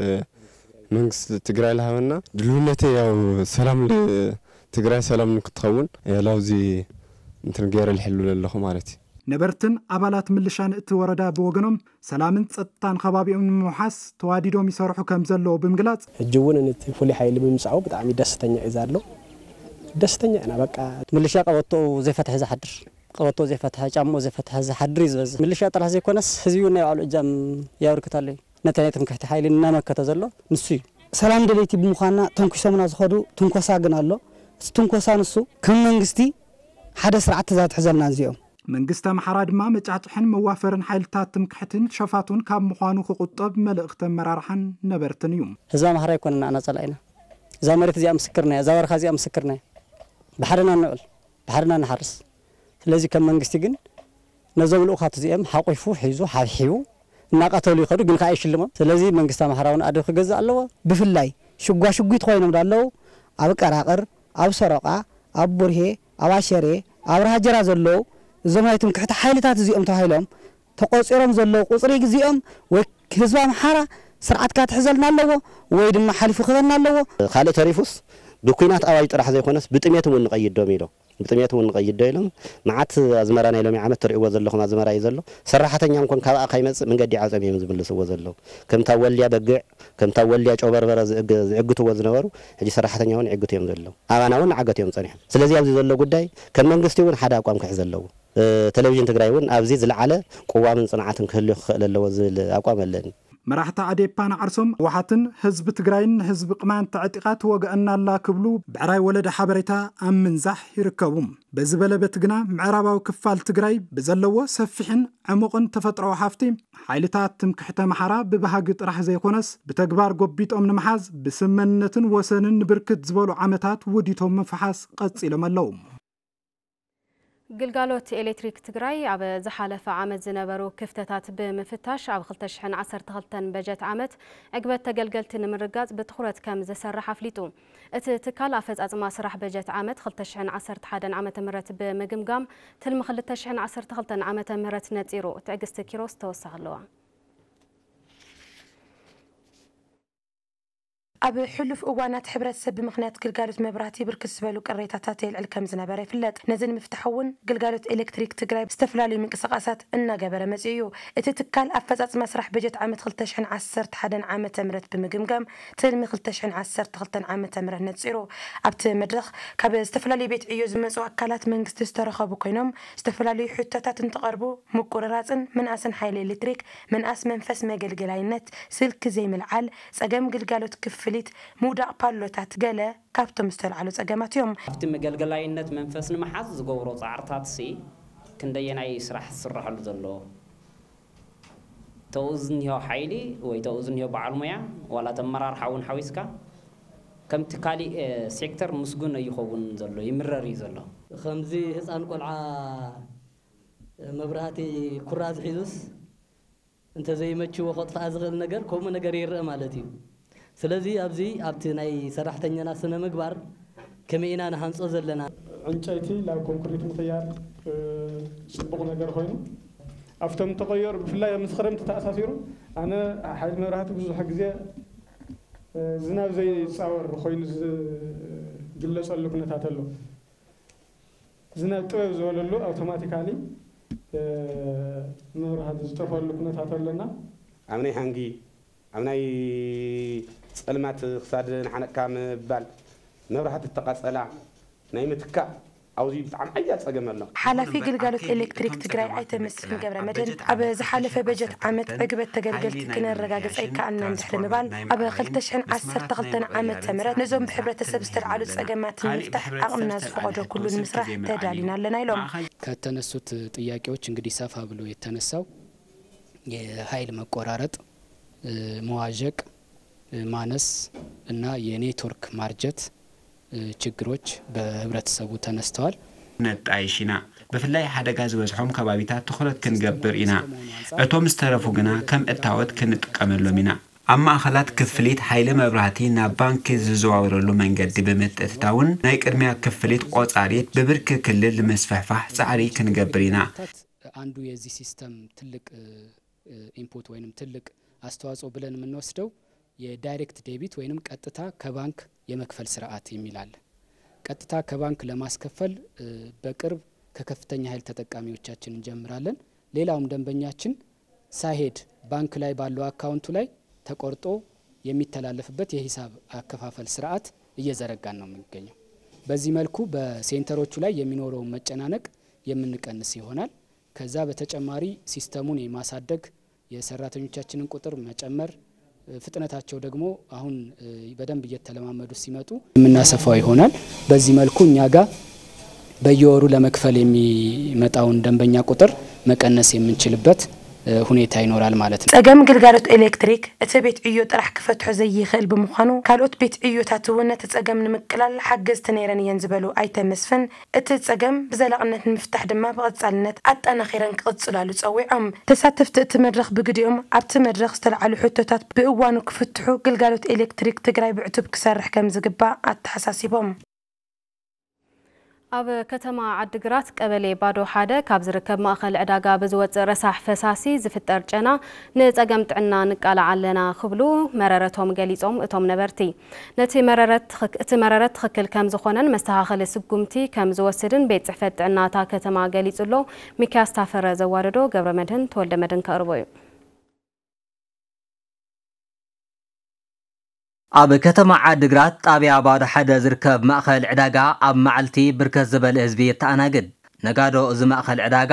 መንግስቲ ትግራይ ልሃበና ድልውነተይ ያው ሰላም ል-፣ ትግራይ ሰላም ንክትኸውን ያው ላውዚ እንትን ገይረ ልሕሉ ኣለኹ ማለት እዩ። ነበርትን ኣባላት ምልሻን እቲ ወረዳ ብወገኖም ሰላምን ጸጥታን ከባቢኦም ንምውሓስ ተዋዲዶም ይሰርሑ ከም ዘለዉ ብምግላጽ፣ ሕጂ እውን ነቲ ፍሉይ ሓይሊ ብምምጻኡ ብጣዕሚ ደስተኛ እዩ ዘሎ። ደስተኛ ኢና በቃ። ምልሻ ቀበቶኡ ዘይፈትሐ ዝሓድር፣ ቀበቶ ዘይፈትሐ፣ ጫምኡ ዘይፈትሐ ዝሓድር እዩ ዝበዝሕ። ምልሻ ጥራሕ ዘይኮነስ ህዝቢ እውን ናይ ባዕሉ እጃም ያበርክት ኣሎ እዩ። ነቲ ናይ ትምክሕቲ ሓይሊ እናመከተ ዘሎ ንሱ እዩ። ሰላም ደለይቲ ብምዃንና ተንኪሶምና ዝኸዱ ትንኮሳ ግን ኣሎ። እቲ ትንኮሳ ንሱ ከም መንግስቲ ሓደ ስርዓት ትእዛዝ ትሕዘልና እዚኦም። መንግስቲ ኣምሓራ ድማ መጫጭሕን መዋፈርን ሓይልታት ትምክሕትን ሸፋቱን ካብ ምዃኑ ክቑጠብ መልእኽቲ ኣመራርሓን ነበርትን እዩ። ህዝቢ ኣምሓራ ኣይኮነን ንዓና ጸላኢና። እዛ መሬት እዚኣ ምስክርና እያ፣ እዛ በረኻ እዚኣ ምስክርና እያ። ብሓደና ንውዕል፣ ብሓደና ንሓርስ። ስለዚ ከም መንግስቲ ግን ነዞም ልኡኻት እዚኦም ሓቂፉ፣ ሒዙ፣ ሓብሒቡ እናቐተሉ ይኸዱ፣ ግን ከዓ ይሽልሞም። ስለዚ መንግስቲ ኣምሓራ እውን ኣደብ ክገዝእ ኣለዎ። ብፍላይ ሽጓሽጒት ኮይኖም ዳለዉ ኣብ ቀራቕር፣ ኣብ ሰሮቃ፣ ኣብ ቡርሄ፣ ኣብ ኣሸሬ፣ ኣብ ራሃጀራ ዘለዉ እዞም ናይ ትምክሕቲ ሓይልታት እዚኦም ተባሂሎም ተቆፂሮም ዘለዉ ቁፅሪ እዚኦም ወይ ህዝቢ ኣምሓራ ስርዓትካ ትሕዘልና ኣለዎ ወይ ድማ ሓሊፉ ክበና ኣለዎ። ካልእ ተሪፉስ ብኲናት ኣዋጅ ጥራሕ ዘይኮነስ ብጥሜት እውን ንቐይዶም ኢሎም። ብጥሜት እውን ንቐይዶ ኢሎም። መዓት ኣዝመራ ናይ ሎሚ ዓመት ትርእይዎ ዘለኹም ኣዝመራ እዩ ዘሎ። ሰራሕተኛ እንኮን ካባኣ ካይመጽእ መንገዲ ዓጽዮም እዮም ዝምልስዎ ዘለዉ። ከምታ ወልያ በግዕ፣ ከምታ ወልያ ጨው በርበረ ዝእግ-፣ ዝዕግትዎ ዝነበሩ፣ ሕጂ ሰራሕተኛ እውን ይዕግቱ እዮም ዘለዉ። ኣባና እውን ንዓገት እዮም ጸኒሖም። ስለዚ ኣብዚ ዘሎ ጉዳይ ከም መንግስቲ እውን ሓደ ኣቋም ክሕዝ ኣለዎ። እ፣ ቴሌቪዥን ትግራይ እውን ኣብዚ ዝለዓለ ቅዋምን ጽንዓትን ክህልዮ ክኽእል ኣለዎ ዝብል ኣቋም ኣለኒ። መራሕቲ ኣዴፓ ንዓርሶም ህወሓትን ህዝቢ ትግራይን ንህዝቢ ቅማንት ኣዕጢቓ ትወግኣና ኣላ ክብሉ ብዕራይ ወለደ ሓበሬታ ኣብ ምንዛሕ ይርከቡ። በዚ በለ በቲ ግና ምዕራባዊ ክፋል ትግራይ ብዘለዎ ሰፊሕን ዕሙቕን ተፈጥሮዊ ሃፍቲ ሓይልታት ትምክሕቲ ኣምሓራ ብባህጊ ጥራሕ ዘይኮነስ ብተግባር ጎቢጦም ንምሓዝ ብስምምነትን ወሰንን ንብርክት ዝበሉ ዓመታት ውዲቶም ምፍሓስ ቀጺሎም ኣለዉ። ግልጋሎት ኤሌክትሪክ ትግራይ ኣብ ዝሓለፈ ዓመት ዝነበሩ ክፍተታት ብምፍታሽ ኣብ ክልተ ሽሕን ዓሰርተ ክልተን በጀት ዓመት ዕግበት ተገልገልቲ ንምርጋፅ ብትኹረት ከም ዝሰርሕ ኣፍሊጡ። እቲ ትካል ኣፈፃፅማ ስራሕ በጀት ዓመት ክልተ ሽሕን ዓሰርተ ሓደን ዓመተ ምህረት ብምግምጋም ትልሚ ክልተ ሽሕን ዓሰርተ ክልተን ዓመተ ምህረት ነፂሩ። ትዕግስቲ ኪሮስ ተወሳኺ ኣለዋ። ኣብ ሕሉፍ እዋናት ሕብረተሰብ ብምኽንያት ግልጋሎት መብራህቲ ብርክት ዝበሉ ቅሬታታት የልዕል ከም ዝነበረ ይፍለጥ። ነዚ ንምፍታሕ እውን ግልጋሎት ኤሌክትሪክ ትግራይ ዝተፈላለዩ ምንቅስቃሳት እናገበረ መፂኡ እዩ። እቲ ትካል ኣፈፃፅማ ስራሕ በጀት ዓመት ክልተ ሽሕን ዓሰርተ ሓደን ዓመተ ምህረት ብምግምጋም ትልሚ ክልተ ሽሕን ዓሰርተ ክልተን ዓመተ ምህረት ነፂሩ። ኣብቲ መድረኽ ካብ ዝተፈላለዩ ቤት ዕዮ ዝመፁ ኣካላት መንግስቲ ዝተረኸቡ ኮይኖም ዝተፈላለዩ ሕቶታት እንትቐርቡ ምቁርራፅን ምንኣስን ሓይሊ ኤሌክትሪክ፣ ምንኣስ መንፈስ መገልገላይነት፣ ስልኪ ዘይምልዓል፣ ጸገም ግልጋሎት ክፍሊት፣ ምውዳቕ ፓሎታት ገለ ካብቶም ዝተልዓሉ ጸገማት እዮም። ኣብቲ መገልገላይነት መንፈስ ንምሓዝ ዝገብሮ ጻዕርታት ሲ ክንደየናይ ስራሕ ዝስረሐሉ ዘሎ? ተኡ ዝኒሆ ሓይሊ ወይ ተኡ ዝኒሆ በዓል ሞያ ዋላ ተመራርሓ እውን ሓዊስካ ከምቲ ካሊእ ሴክተር ምስጉን ኣይኸውን ዘሎ፣ ይምረር እዩ ዘሎ። ከምዚ ህፃን ቆልዓ መብራህቲ ኩራዝ ሒዙስ እንተዘይመችዎ ከጥፍኣ ዝኽእል ነገር ከምኡ ነገር ይረአ ማለት እዩ። ስለዚ ኣብዚ ኣብቲ ናይ ሰራሕተኛና ስነ ምግባር ከመይ ኢና ንሃንጾ ዘለና? ዕንጨይቲ ናብ ኮንክሪት ምቕያር፣ እ፣ ጽቡቕ ነገር ኮይኑ ኣብቶም ተቐየሩ ብፍላይ ምስ ክረምቲ ተኣሳሲሩ ኣነ ሓይሊ መብራህቲ ብዙሕ ግዜ፣ እ፣ ዝናብ ዘይጻወር ኮይኑ ዝግለጸሉ ኩነታት ኣሎ። ዝናብ ጥበብ ዝበለሉ ኣውቶማቲካሊ፣ እ፣ መብራህቲ ዝጠፈሉ ኩነታት ኣለና። ኣብ ናይ ሃንጊ፣ ኣብ ናይ ጸልማት ክሳድ ንሓነቅካ ምባል፣ መብራህቲ እተቃጸላ ናይ ምትካእ ኣብዚ ብጣዕሚ ሓያል ጸገም ኣሎ። ሓላፊ ግልጋሎት ኤሌክትሪክ ትግራይ ኣይተ መስፍን ገብረ መድህን ኣብ ዝሓለፈ በጀት ዓመት ዕግበት ተገልገልቲ ክነረጋግጽ ኣይከኣልናን ድሕሪ ምባል ኣብ ክልተ ሽሕን ዓሰርተ ክልተን ዓመተ ምህረት ነዞም ብሕብረተሰብ ዝተልዓሉ ጸገማት ንምፍታሕ ዓቕምና ዝፈቐዶ ኩሉ ንምስራሕ ተዳሊና ኣለና ኢሎም። ከተነሱት ጥያቄዎች እንግዲህ ሰፋ ብሎ የተነሳው የኃይል መቆራረጥ፣ እ፣ መዋዠቅ፣ እ፣ ማነስ እና የኔትወርክ ማርጀት፣ እ፣ ችግሮች በህብረተሰቡ ተነስተዋል። ነጣይሽ ኢና። ብፍላይ ሓደጋ ዝበዝሖም ከባቢታት ትኹረት ክንገብር ኢና። እቶም ዝተረፉ ግና ከም እታወት ክንጥቀመሎም ኢና። ኣብ ማእኸላት ክፍሊት ሓይሊ መብራህቲ ናብ ባንኪ ዝዘዋወረሉ መንገዲ ብምትእትታውን ናይ ቅድሚያ ክፍሊት ቆጻሪት ብብርኪ ክልል ንምስፍሕፋሕ ጻዕሪ ክንገብር ኢና። አንዱ የዚህ ሲስተም ትልቅ፣ እ፣ ኢንፑት ወይንም ትልቅ አስተዋጽኦ ብለን የምንወስደው የዳይሬክት ዴቢት ወይንም ቀጥታ ከባንክ የመክፈል ስርዓት የሚል አለ። ቀጥታ ከባንክ ለማስከፈል፣ እ፣ በቅርብ ከከፍተኛ ኃይል ተጠቃሚዎቻችን እንጀምራለን። ሌላውም ደንበኛችን ሳይሄድ ባንክ ላይ ባለው አካውንቱ ላይ ተቆርጦ የሚተላለፍበት የሂሳብ አከፋፈል ስርዓት እየዘረጋን ነው የምንገኘው። በዚህ መልኩ በሴንተሮቹ ላይ የሚኖረውን መጨናነቅ የምንቀንስ ይሆናል። ከዛ በተጨማሪ ሲስተሙን የማሳደግ፣ የሰራተኞቻችንን ቁጥር መጨመር፣ ፍጥነታቸው ደግሞ አሁን፣ እ፣ በደንብ እየተለማመዱ ሲመጡ የምናሰፋው ይሆናል። በዚህ መልኩ እኛ ጋር በየወሩ ለመክፈል የሚመጣውን ደንበኛ ቁጥር መቀነስ የምንችልበት እ፣ ሁኔታ ይኖራል ማለት ነው። ጸገም ግልጋሎት ኤሌክትሪክ እቲ ቤት ዕዮ ጥራሕ ክፈትሖ ዘይኽእል ብምዃኑ፣ ካልኦት ቤት ዕዮታት እውን ነቲ ጸገም ንምቅላል ሓገዝቲ ነይረን እየን ዝበሉ ኣይተ መስፍን፣ እቲ ጸገም ብዘላቕነት ንምፍታሕ ድማ ብቐጻልነት ኣጠናኺረን ክቕጽላሉ ጸዊዖም። ተሳተፍቲ እቲ መድረኽ ብግዲኦም ኣብቲ መድረኽ ዝተልዓሉ ሕቶታት ብእዋኑ ክፍትሑ ግልጋሎት ኤሌክትሪክ ትግራይ ብዕቱብ ክሰርሕ ከም ዝግባእ ኣተሓሳሲቦም። ኣብ ከተማ ዓድግራት ቀበሌ ባዶ ሓደ ካብ ዝርከብ ማእኸል ዕዳጋ ብዝወፅእ ረሳሕ ፈሳሲ ዝፍጠር ጨና ንፀገም ጥዕና ንቃላዕ ኣለና ክብሉ መረረቶም ገሊፆም። እቶም ነበርቲ ነቲ መረረት ትኽክ-፣ እቲ መረረት ትኽክል ከም ዝኾነን መስተኻኸሊ ስጉምቲ ከም ዝወስድን ቤት ፅሕፈት ጥዕና እታ ከተማ ገሊፁ ኣሎ። ሚኪያስ ታፈረ ዘዋደዶ ገብረ መድህን ተወልደ መድህን ከቕርቦ እዩ። ኣብ ከተማ ዓድግራት ጣብያ ባዶ ሓደ ዝርከብ ማእኸል ዕዳጋ ኣብ መዓልቲ ብርከት ዝበለ ህዝቢ የተኣናግድ። ነጋዶ እዚ ማእኸል ዕዳጋ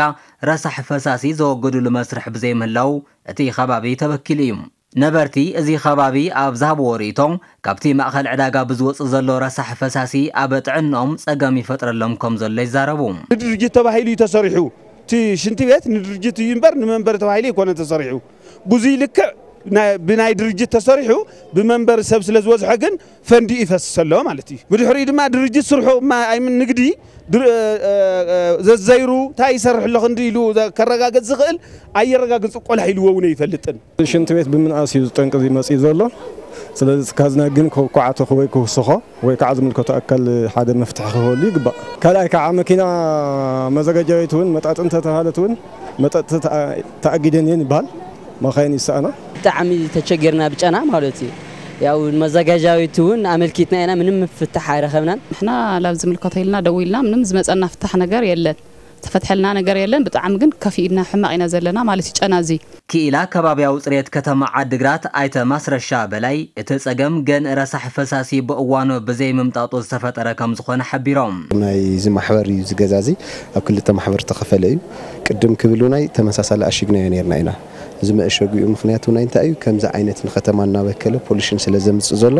ረሳሕ ፈሳሲ ዘወግድሉ መስርሕ ብዘይምህላው እቲ ከባቢ ተበኪሉ እዩ። ነበርቲ እዚ ከባቢ ኣብ ዝሃብዎ ርእይቶ፣ ካብቲ ማእኸል ዕዳጋ ብዝወፅእ ዘሎ ረሳሕ ፈሳሲ ኣብ ጥዕንኦም ፀገም ይፈጥረሎም ከም ዘሎ ይዛረቡ። ንድርጅት ተባሂሉ እዩ ተሰሪሑ። እቲ ሽንቲ ቤት ንድርጅት እዩ እምበር ንመንበሪ ተባሂሉ ኣይኮነ ተሰሪሑ። ብዙይ ልክዕ ናይ-፣ ብናይ ድርጅት ተሰሪሑ ብመንበሪ ሰብ ስለ ዝበዝሖ ግን ፈንዲ ይፈስስ ኣሎ ማለት እዩ። ብድሕሪኡ ድማ ድርጅት ስርሑ ማ-፣ ኣይምን ንግዲ ድር-፣ እ፣ እ፣ እ፣ ዘዘይሩ እንታይ ይሰርሕ ኣሎ ክንዲ ኢሉ ዘ-፣ ከረጋግጽ ዝኽእል ኣየረጋግጽ ቆላሕ ኢልዎ እውን ኣይፈልጥን። ሽንቲ ቤት ብምንኣስ እዩ ዝጠንቂ እዚ መጺኡ ዘሎ። ስለዚ እቲ ካዝና ግን ከኳዕቶ ወይ ክውስኾ ወይ ከዓ ዝምልከቶ ኣካል ሓደ መፍትሒ ክህበሉ ይግባእ። ካልኣይ ከዓ መኪና መዘጋጃዊት እውን መጣጥ እንተተባሃለት እውን መጠጥ ተኣ-፣ ተኣጊደን እየን ይበሃል። መኻይን ይሰኣና። ብጣዕሚ ተቸጊርና ብጨና ማለት እዩ። ያው መዘጋጃዊት እውን ኣመልኪትና ኢና፣ ምንም ፍታሕ ኣይረኸብናን። ንሕና ላብ ዝምልከቶ ኢልና ደዊልና ምንም ዝመጸና ፍታሕ ነገር የለን። ዝተፈትሐልና ነገር የለን። ብጣዕሚ ግን ከፊእና ሕማቕ ኢና ዘለና ማለት እዩ ጨና እዚ። ክኢላ ከባብያዊ ጽሬት ከተማ ዓድግራት ኣይተ ማስረሻ በላይ፣ እቲ ጸገም ገን ረሳሕ ፈሳሲ ብእዋኑ ብዘይምምጣጡ ዝተፈጠረ ከም ዝኾነ ሓቢሮም። ናይዚ ማሕበር እዩ፣ እዚ ገዛ እዚ ኣብ ክልተ ማሕበር ዝተኸፈለ እዩ። ቅድም ክብል ናይ ተመሳሳሊ ኣሽግናዮ ነርና ኢና። እዚ መእሸጊኡ ምኽንያት እውን እንታይ እዩ? ከምዚ ዓይነት ንከተማ እናበከለ ፖሊሽን ስለ ዘምጽእ ዘሎ፣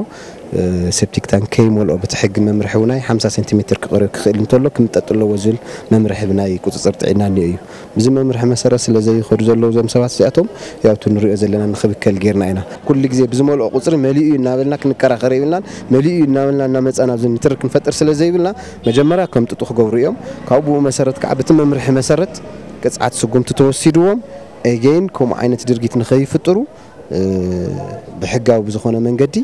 እ፣ ሴፕቲክ ታንክ ከይመልኦ፣ በቲ ሕጊ መምርሒ እውን ናይ ሓምሳ ሴንቲሜትር ክቐርብ ክኽእል እንተሎ ክምጠጥ ኣለዎ ዝብል መምርሒ ብናይ ቁጽጽር ጥዕና እኒኦ እዩ። ብዚ መምርሒ መሰረት ስለ ዘይኸዱ ዘለዉ እዞም ሰባት እዚኣቶም፣ ያው እቲ ንሪኦ ዘለና ንኽብከል ጌርና ኢና። ኩሉ ግዜ ብዝመልኦ ቁጽሪ መሊኡ እዩ እናበልና ክንከራኸር የብልናን። መሊኡ እዩ እናበልና እናመጻና ኣብዚ ንትርክ ክንፈጥር ስለ ዘይብልና፣ መጀመርያ ከምጥጡ ክገብሩ እዮም። ካብኡ ብኡ መሰረት ከዓ በቲ መምርሒ መሰረት ቅጽዓት ስጉምቲ ተወሲድዎም፣ ኤጌን ከምኡ ዓይነት ድርጊት ንኸይፍጥሩ፣ እ፣ ብሕጋዊ ብዝኾነ መንገዲ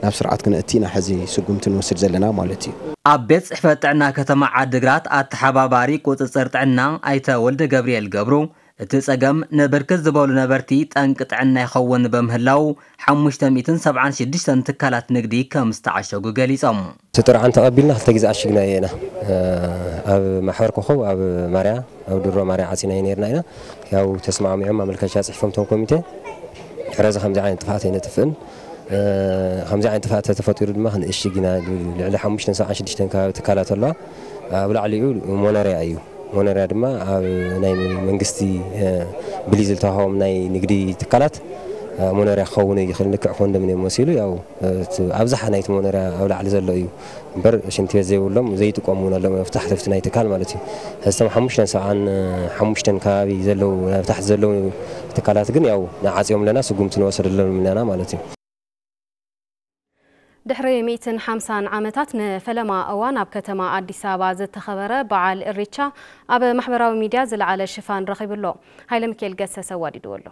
ናብ ስርዓት ክነእቲ ኢና ሕዚ ስጉምቲ ንወስድ ዘለና ማለት እዩ። ኣብ ቤት ጽሕፈት ጥዕና ከተማ ዓድግራት ኣተሓባባሪ ቁጽጽር ጥዕና ኣይተ ወልደ ገብርኤል ገብሩ፣ እቲ ጸገም ንብርክት ዝበሉ ነበርቲ ጠንቂ ጥዕና ይኸውን በምህላው፣ ሓሙሽተ ሚእትን ሰብዓን ሽዱሽተን ትካላት ንግዲ ከም ዝተዓሸጉ ገሊጾም። እቲ ጥርዓን ተቐቢልና ክልተ ግዜ ዓሽግናዮ ኢና። እ፣ ኣብ ማሕበር ኮኾብ፣ ኣብ ማርያ፣ ኣብ ድሮ ማርያ ዓጺናዮ ነርና ኢና። ያው ተስማዕሚዖም ማመልከቻ ጽሒፎም እቶም ኮሚቴ፣ ድሕረዚ ከምዚ ዓይነት ጥፍኣት ኣይነጥፍእን፣ እ፣ ከምዚ ዓይነት ጥፍኣት ተተፈጢሩ ድማ ክንእሽግ ኢና። ልዕሊ ሓሙሽተን ሰብዓን ሽዱሽተን ከባቢ ትካላት ኣለዋ። ኣብ ላዕሊኡ ሞነርያ እዩ። ሞነርያ ድማ ኣብ ናይ መንግስቲ፣ እ፣ ብሊዝ ዝተዋህቦም ናይ ንግዲ ትካላት፣ እ፣ ሞነርያ ክኸውን ይኽእል፣ ልክዕ ኮንዶሚንየም መሲሉ፣ ያው፣ እ፣ እቲ ኣብዝሓ ናይቲ ሞነርያ ኣብ ላዕሊ ዘሎ እዩ። እምበር ሽንቲ ቤት ዘይብሎም ዘይጥቀሙ እውን ኣለዉ፣ ኣብ ታሕቲ ኣብቲ ናይ ትካል ማለት እዩ። ሕዚ እቶም ሓሙሽተን ሰብዓን ሓሙሽተን ከባቢ ዘለዉ፣ ኣብ ታሕቲ ዘለዉ ትካላት ግን ያው ንዓጽዮም ኣለና፣ ስጉምቲ ንወሰደሎም ኣለና ማለት እዩ። ድሕሪ ሚእትን ሓምሳን ዓመታት ንፈለማ እዋን ኣብ ከተማ ኣዲስ ኣበባ ዝተኸበረ በዓል እሬቻ ኣብ ማሕበራዊ ሚድያ ዝለዓለ ሽፋን ረኺቡ ኣሎ። ሃይለ ሚካኤል ገሰሰ ኣዋዲድዎ ኣሎ።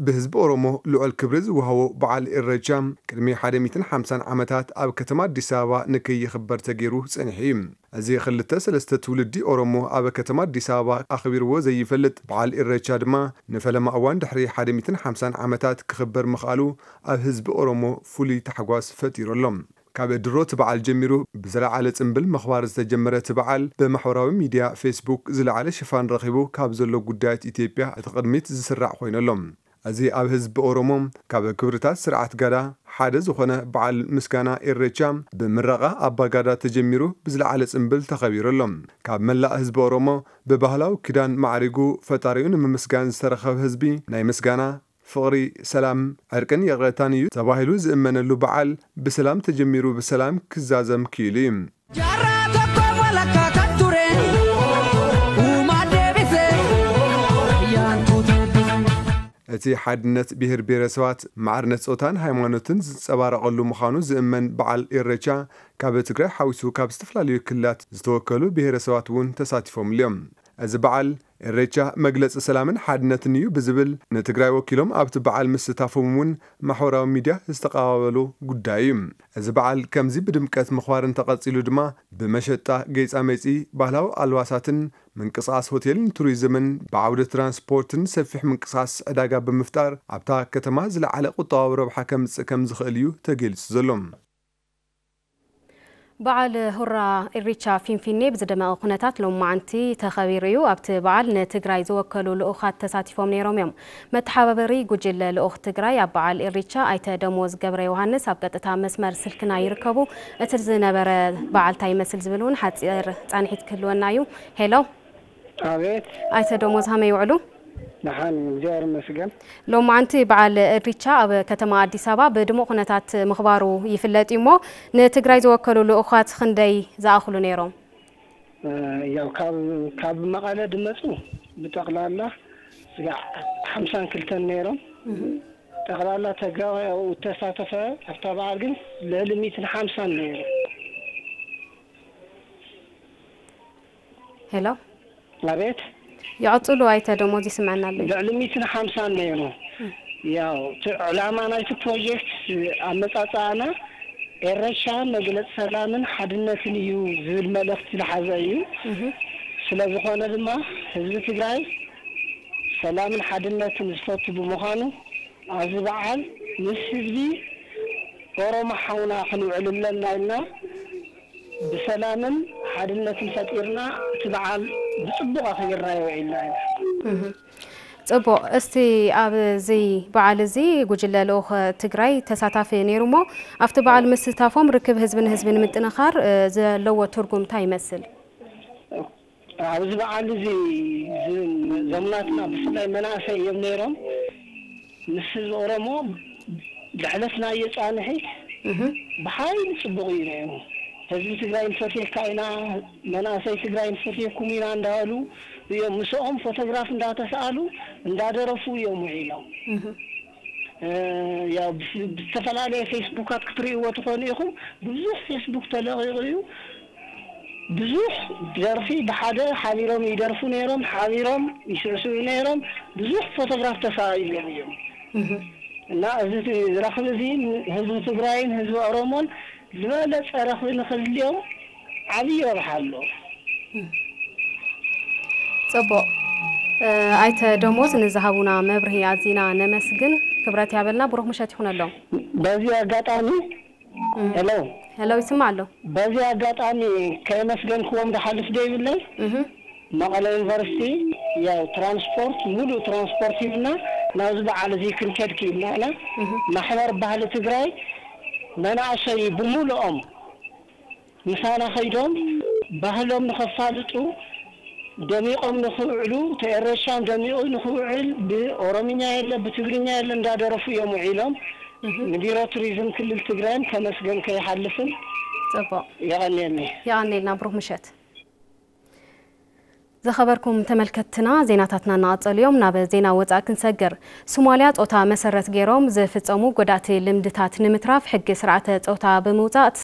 ብህዝቢ ኦሮሞ ልዑል ክብሪ ዝወሃቦ በዓል ኢሬቻ ቅድሚ ሓደ ሚእትን ሓምሳን ዓመታት ኣብ ከተማ ኣዲስ ኣበባ ንከይኽበር ተገይሩ ጸኒሑ እዩ። እዚ ክልተ ሰለስተ ትውልዲ ኦሮሞ ኣብ ከተማ ኣዲስ ኣበባ ኣኽቢርዎ ዘይፈልጥ በዓል ኢሬቻ ድማ ንፈለማ እዋን ድሕሪ ሓደ ሚእትን ሓምሳን ዓመታት ክኽበር ምኽኣሉ ኣብ ህዝቢ ኦሮሞ ፍሉይ ታሕጓስ ፈጢሩ ኣሎ። ካብ ድሮ እቲ በዓል ጀሚሩ ብዝለዓለ ጽምብል ምኽባር ዝተጀመረ እቲ በዓል ብማሕበራዊ ሚድያ ፌስቡክ ዝለዓለ ሽፋን ረኺቡ ካብ ዘሎ ጉዳያት ኢትዮጵያ እቲ ቅድሚት ዝስራዕ ኮይኑ ኣሎ። እዚ ኣብ ህዝቢ ኦሮሞ ካብ ክብርታት ስርዓት ጋዳ ሓደ ዝኾነ በዓል ምስጋና ኢሬቻ ብምረቓ ኣባ ጋዳ ተጀሚሩ ብዝለዓለ ጽምብል ተኸቢሩ ኣሎ። ካብ መላእ ህዝቢ ኦሮሞ ብባህላዊ ክዳን ማዕሪጉ ፈጣሪኡ ንምምስጋን ዝተረኸበ ህዝቢ ናይ ምስጋና ፍቕሪ፣ ሰላም፣ ዕርቅን ይቕረታን እዩ ተባሂሉ ዝእመነሉ በዓል ብሰላም ተጀሚሩ ብሰላም ክዛዘም ክኢሉ እዩ። Jarraa tokko walakkaa kan ture uumaa deebise. Yaantoota eebbise. እቲ ሓድነት ብሄር ብሄረሰባት፣ ማዕርነት ጾታን ሃይማኖትን ዝንጸባረቐሉ ምዃኑ ዝእመን በዓል ኢሬቻ፣ ካብ ትግራይ ሓዊሱ ካብ ዝተፈላለዩ ክልላት ዝተወከሉ ብሄረሰባት እውን ተሳቲፎምሉ እዮም። እዚ በዓል ኢሬቻ መግለጺ ሰላምን ሓድነትን እዩ ብዝብል፣ ንትግራይ ወኪሎም ኣብቲ በዓል ምስታፎም እውን ማሕበራዊ ሚድያ ዝተቐባበሉ ጉዳይ እዩ። እዚ በዓል ከምዚ ብድምቀት ምኽባር እንተቐጺሉ ድማ፣ ብመሸጣ ጌጻመጺ፣ ባህላዊ ኣልባሳትን ምንቅስቓስ ሆቴልን ቱሪዝምን፣ ብዓውዲ ትራንስፖርትን ሰፊሕ ምንቅስቓስ ዕዳጋ ብምፍጣር ኣብታ ከተማ ዝለዓለ ቁጠባዊ ረብሓ ከምጽእ ከም ዝኽእል እዩ ተገሊጹ ዘሎ። በዓል ሁራ ኢሪቻ ፊንፊኔ ብዝደመቐ ኩነታት ሎማዓንቲ ተኸቢሩ እዩ። ኣብቲ በዓል ንትግራይ ዝወከሉ ልኡኻት ተሳቲፎም ነይሮም እዮም። መተሓባበሪ ጉጅለ ልኡኽ ትግራይ ኣብ በዓል ኢሪቻ ኣይተ ደሞዝ ገብረ ዮሃንስ ኣብ ቀጥታ መስመር ስልክና ይርከቡ። እቲ ዝነበረ በዓል እንታይ ይመስል ዝብል እውን ሓፂር ፃንሒት ክህልወና እዩ። ሄሎ። ኣቤት። ኣይተ ደሞዝ ሃመይ ይውዕሉ? ደሓን፣ እግዚኣብሔር ይመስገን። ሎማዓንቲ በዓል ኢሪቻ ኣብ ከተማ ኣዲስ ኣበባ ብድሙቕ ኩነታት ምኽባሩ ይፍለጥ እዩ እሞ፣ ንትግራይ ዝወከሉ ልኡኻት ክንደይ ዝኣኽሉ ነይሮም? እ፣ ያው ካብ፣ ካብ መቐለ ድመፁ ብጠቕላላ ስጋዕ ሓምሳን ክልተን ነይሮም። ጠቕላላ ተጋባይ ኣብኡ እተሳተፈ ኣብታ በዓል ግን ልዕሊ ሚእትን ሓምሳን ነይሩ። ሄሎ። ኣቤት። ይቐጽሉ ኣይተ ደሞዝ፣ ይስምዐና ኣሎ። ልዕሊ ሚእትን ሓምሳን ነይሩ። ያው እቲ ዕላማ ናይቲ ፕሮጀክት ኣመጻጽኣና ኤረሻ መግለጺ ሰላምን ሓድነትን እዩ ዝብል መልእኽቲ ዝሓዘ እዩ። እህ። ስለ ዝኾነ ድማ ህዝቢ ትግራይ ሰላምን ሓድነትን ዝፈቱ ብምዃኑ ኣብዚ በዓል ምስ ህዝቢ ኦሮሞ ሓውና ክንውዕል ኣለና ኢልና ብሰላምን ሓድነትን ፈጢርና እቲ በዓል ብጽቡቕ ኣኽቢርናዮ ውዒልና ኢና። እህ። ጽቡቕ። እስቲ ኣብዚ በዓል እዚ ጉጅለ ልኡኽ ትግራይ ተሳታፊ ነይሩ እሞ፣ ኣብቲ በዓል ምስታፎም ርክብ ህዝቢ ንህዝቢ ንምጥንኻር፣ እ፣ ዘለዎ ትርጉም እንታይ ይመስል? ኣብዚ በዓል እዚ ዝ-፣ ዘሙናትና ብፍላይ መናእሰይ እዮም ነይሮም። ምስ ህዝቢ ኦሮሞ ዘሕለፍናዮ ጻንሒት እህ። ብሓይሊ ጽቡቕ እዩ ነይሩ። ህዝቢ ትግራይ ንፈትየካ ኢና፣ መናእሰይ ትግራይ ንፈትየኩም ኢና እንዳበሉ እዮም። ምስኦም ፎቶግራፍ እንዳተሰኣሉ፣ እንዳደረፉ እዮም ውዒሎም። እህ። እ፣ ያው ብስ-፣ ብዝተፈላለየ ፌስቡካት ክትርእይዎ ትኾኑ ኢኹም። ብዙሕ ፌስቡክ ተለቒቑ እዩ። ብዙሕ ደርፊ ብሓደ ሓቢሮም ይደርፉ ነይሮም፣ ሓቢሮም ይስዕስዑ ነይሮም። ብዙሕ ፎቶግራፍ ተሳኢሎም እዮም። እህ። እና እዚ ት-፣ ረኽቢ እዚ ህዝቢ ትግራይን ህዝቢ ኦሮሞን ዝበለጸ ረኽቢ ንኽህልዮም ዓብዪ ረብሓ ኣለዎ። ጽቡቕ። እ፣ ኣይተ ደሞዝ ንዝሃቡና መብርሂ ኣዚና ነመስግን። ክብረት ያበልና፣ ብሩኽ ምሸት ይኹነሎም። በዚ ኣጋጣሚ እም። ሄሎ። ሄሎ፣ ይስማዕ ኣሎ። በዚ ኣጋጣሚ ከየመስገንክዎም ዝሓልፍ ዘይብለይ፣ እህ። መቐለ ዩኒቨርሲቲ ያው ትራንስፖርት፣ ሙሉእ ትራንስፖርት ሂብና ናብዚ በዓል እዚ ክንከድ ክኢልና ኢና። እህ። ማሕበር ባህሊ ትግራይ መናእሰይ ብምሉኦም ምሳና ከይዶም ባህሎም ንኸፋልጡ፣ ደሚቖም ንኽውዕሉ፣ ተኤረሻም ደሚቑ ንኽውዕል ብኦሮምኛ የለ ብትግርኛ የለ እንዳደረፉ እዮም ውዒሎም። እህ። ንቢሮ ቱሪዝም ክልል ትግራይን ከመስገን ከይሓልፍን ጽቡቕ። የቐንየኒ። የቐንየልና፣ ብሩኽ ምሸት። ዝኸበርኩም ተመልከትትና፣ ዜናታትና እናቐጸሉ እዮም። ናብ ዜና ወጻኢ ክንሰግር። ሶማልያ ጾታ መሰረት ገይሮም ዝፍጸሙ ጎዳእቲ ልምድታት ንምትራፍ ሕጊ ስርዓተ ጾታ ብምውጻእ